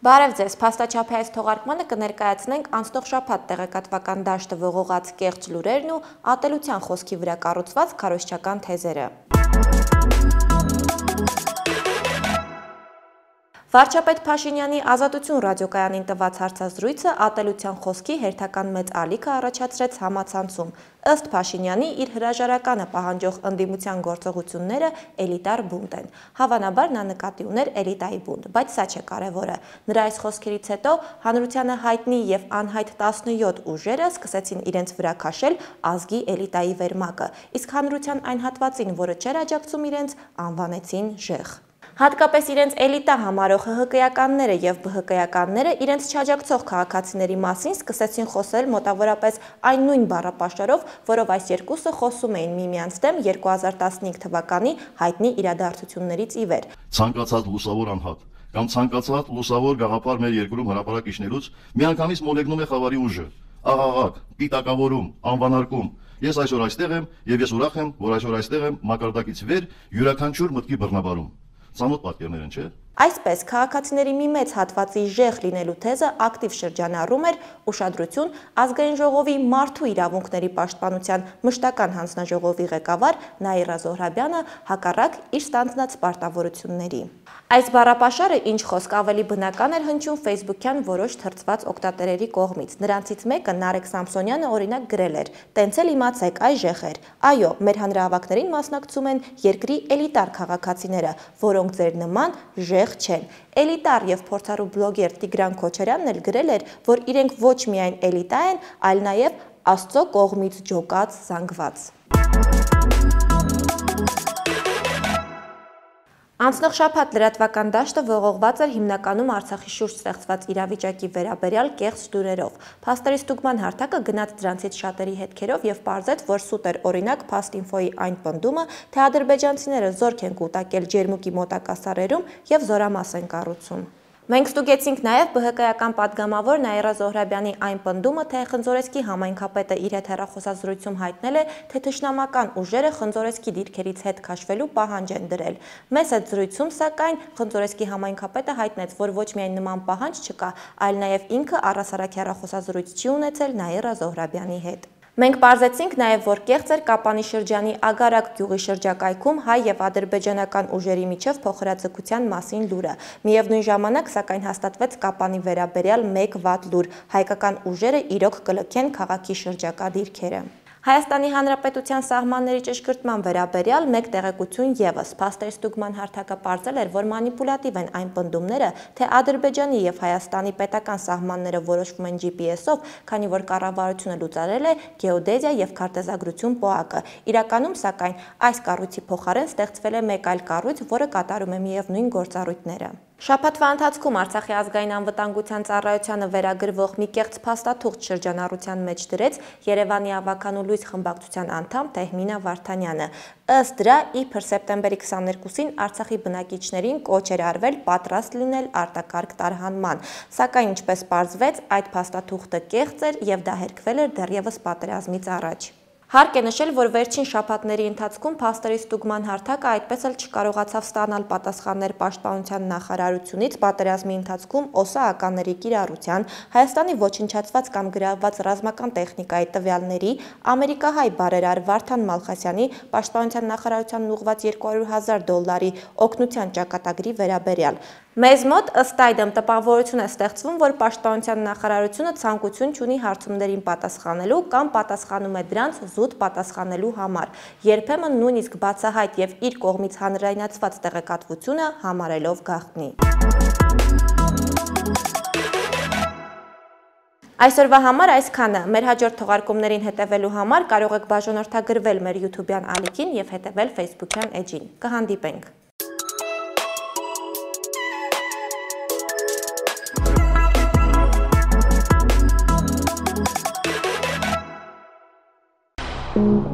Բարև ձեզ, փաստաչափահայց թողարկմանը կներկայացնենք անցնող շաբաթ տեղեկատվական դաշտը ողողած կեղծ լուրերն ու ատելության խոսքի վրա կառուցված քարոզչական թեզերը։ Վարչապետ Փաշինյանի Ազատություն ռադիոկայանին տված հարցազրույցը ատելության խոսքի հերթական մեծ ալիքը առաջացրեց համացանցում։ Ըստ Փաշինյանի, իր հրաժարականը պահանջող ընդդիմության գործողությունները էլիտար բունտ են։ Հավանաբար նա նկատի ուներ էլիտայի բունտ, բայց սա չէ կարևորը։ Նրա այս խոսքերից հետո հանրությանը հայտնի եւ անհայտ 17 ուժերը սկսեցին իրենց վրա քաշել ազգի էլիտայի վերմակը, իսկ հանրության այն հատվածին, որը չէր աջակցում իրենց, անվանեցին ժեղ։ Հատկապես իրենց էլիտա համարող ՀՀԿ-ականները եւ ԲՀԿ-ականները իրենց չաջակցող քաղաքացիների մասին սկսեցին խոսել մոտավորապես այն նույն բառապաշարով, որով այս երկուսը խոսում էին միմյանց դեմ 2015 թվականի հայտնի իրադարձություններից ի վեր։ Ցանկացած լուսավոր անհատ կամ ցանկացած լուսավոր գաղափար մեր երկրում հրապարակ իջնելուց միանգամից մոլեգնում է խավարի ուժը, աղաղակ, պիտակավորում, անվանարկում։ Ես այսօր այստեղ եմ եւ ես ուրախ եմ, որ այսօր այստեղ եմ մակարդակից վեր յուրաքանչյուր մտքի բռնաբարում։ Ծանոթ պատկերներ են, չէ՞։ Այսպես քաղաքացիների մի մեծ հատվածի ժեղ լինելու թեզը ակտիվ շրջանառում էր ուշադրություն ազգային ժողովի մարդու իրավունքների պաշտպանության մշտական հանձնաժողովի ղեկավար Նաիրա Զոհրաբյանը հակառակ իր ստանձնած պարտավորությունների։ Այս բառապաշարը ինչ խոսք ավելի բնական էր հնչում Facebook-յան որոշ թրծված օգտատերերի կողմից։ Նրանցից մեկը Նարեկ Սամսոնյանը օրինակ գրել էր. «Տենց էլ իմացեք, այ ժեղեր։ Այո, մեր հանրահավաքներին մասնակցում են երկրի էլիտար քաղաքացիները, որոնք ձեր նման ժեղ չեն»։ Էլիտար եւ փորձառու բլոգեր Տիգրան Քոչարյանն էլ գրել էր, որ իրենք ոչ միայն էլիտա են, այլ նաեւ Աստծո կողմից ջոկած, զանգված։ Անցնող շաբաթ լրատվական դաշտը ողողված էր հիմնականում Արցախի շուրջ ստեղծված իրավիճակի վերաբերյալ կեղծ լուրերով։ Փաստերի ստուգման հարթակը գնաց դրանցից շատերի հետքերով եւ պարզեց, որ սուտ էր օրինակ Փաստինֆոյի այն պնդումը, թե ադրբեջանցիները զորք են կուտակել Ջերմուկի մոտակա սարերում եւ զորամաս են կառուցում։ Մենք ստուգեցինք նաև ԲՀԿ-ական պատգամավոր Նաիրա Զոհրաբյանի այն պնդումը, թե Խնձորեսկի համայնքապետը իր հետ հեռախոսազրույցում հայտնել է, թե թշնամական ուժերը Խնձորեսկի դիրքերից հետ քաշվելու պահանջ են դրել։ Մեծ այդ զրույցում, սակայն, Խնձորեսկի համայնքապետը հայտնեց, որ ոչ միայն նման պահանջ չկա, այլ նաև ինքը առհասարակ հեռախոսազրույց չի ունեցել Նաիրա Զոհրաբյանի հետ։ Մենք պարզեցինք նաև, որ կեղծ էր Կապանի շրջանի Ագարակ գյուղի շրջակայքում հայ եւ ադրբեջանական ուժերի միջև փոխհրաձգության մասին լուրը։ Միևնույն ժամանակ, սակայն հաստատվեց Կապանի վերաբերյալ մեկ վատ լուր՝ հայկական ուժերը իրոք կլքեն քաղաքի շրջակա դիրքերը։ Հայաստանի Հանրապետության սահմանների ճշգրտման վերաբերյալ մեկ տեղեկություն ևս։ Փաստերի ստուգման հարթակը պարզել էր, որ մանիպուլատիվ են այն պնդումները, թե Ադրբեջանի եւ Հայաստանի պետական սահմանները որոշվում են GPS-ով, քանի որ կառավարությունը լուծարել է գեոդեզիա եւ քարտեզագրություն ՊՕԱԿ-ը։ Իրականում, սակայն, այս կառույցի փոխարեն ստեղծվել է մեկ այլ կառույց, որը կատարում է միևնույն գործառույթները։ Շաբաթվա ընթացքում Արցախի ազգային անվտանգության ծառայությանը վերագրվող մի կեղծ փաստաթուղթ շրջանառության մեջ դրեց Երևանի ավականու լույս խմբակցության անդամ Թեհմինա Վարդանյանը։ Ըստ դրա, իբր սեպտեմբերի 22-ին Արցախի բնակիչներին կոչ էր արվել պատրաստ լինել արտակարգ տարհանման, սակայն ինչպես պարզվեց, այդ փաստաթուղթը կեղծ էր եւ դա հերքվել էր դեռևս պատերազմից առաջ։ Հարկ է նշել, որ վերջին շաբաթների ընթացքում փաստերի ստուգման հարթակը այդպես էլ չկարողացավ ստանալ պատասխաններ Պաշտպանության նախարարությունից պատերազմի ընթացքում ՕՍԱ-ականների կիրառության, Հայաստանի ոչնչացված կամ գրավված ռազմական տեխնիկայի տվյալների, ամերիկահայ բարերար Վարդան Մալխասյանի Պաշտպանության նախարարությանն ուղղված $200,000 օգնության ճակատագրի վերաբերյալ։ Մեզ մոտ ըստ այդմ տպավորություն է ստեղծվում, որ Պաշտպանության նախարարությունը ցանկություն չունի հարցումներին պատասխանելու կամ պատասխանում է դրանց զուտ պատասխանելու համար, երբեմն նույնիսկ բացահայտ եւ իր կողմից հանրայնացված տեղեկատվությունը համարելով գաղտնի։ Այսօրվա համար այսքանը։ Մեր հաջորդ թողարկումներին հետևելու համար կարող եք բաժանորդագրվել մեր YouTube-յան ալիքին եւ հետևել Facebook-յան էջին։ Կհանդիպենք։ Thank you.